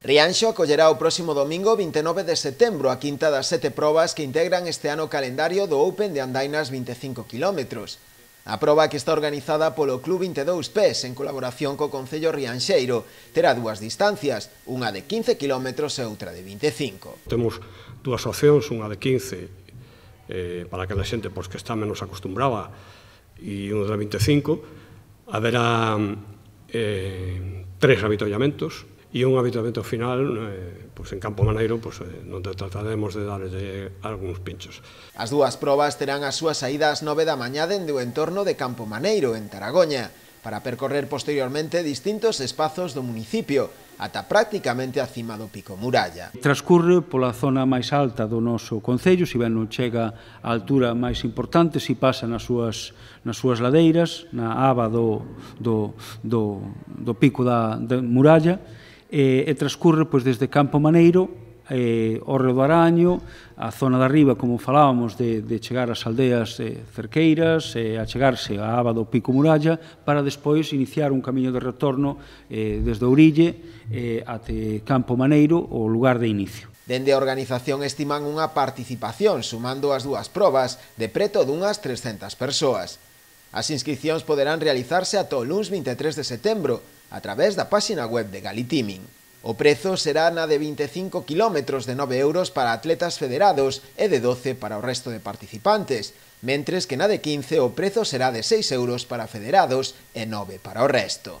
Rianxo acollerá o próximo domingo 29 de setembro a quinta das 7 probas que integran este ano o calendario do Open de Andainas 25 km. A proba, que está organizada polo Club 22 Pés en colaboración co Concello Rianxeiro, terá dúas distancias, unha de 15 km e outra de 25. Temos dúas opcións, unha de 15 para aquela xente que está menos acostumbrada e unha de 25. Haberá 3 avituallamentos e un avituallamento final en Campo Maneiro, onde trataremos de darlle algúns pinchos. As dúas probas terán a súa saída ás 9 da mañá dende o entorno de Campo Maneiro, en Taragoña, para percorrer posteriormente distintos espazos do municipio, ata prácticamente a cima do Pico Muralla. Transcurre pola zona máis alta do noso concello, se ben non chega á altura máis importante, se pasa nas súas ladeiras, na aba do Pico da Muralla, e transcurre desde Campo Maneiro, o Reo do Araño, a zona de arriba, como falábamos, de chegar ás aldeas cerqueiras, a chegarse á aba do Pico Muralla, para despois iniciar un camiño de retorno desde Ourille até Campo Maneiro, o lugar de inicio. Dende a organización estiman unha participación, sumando as dúas probas, de preto dunhas 300 persoas. As inscricións poderán realizarse ata o luns 23 de setembro, a través da páxina web de Galitiming. O prezo será na de 25 km de 9 euros para atletas federados e de 12 para o resto de participantes, mentres que na de 15 o prezo será de 6 euros para federados e 9 para o resto.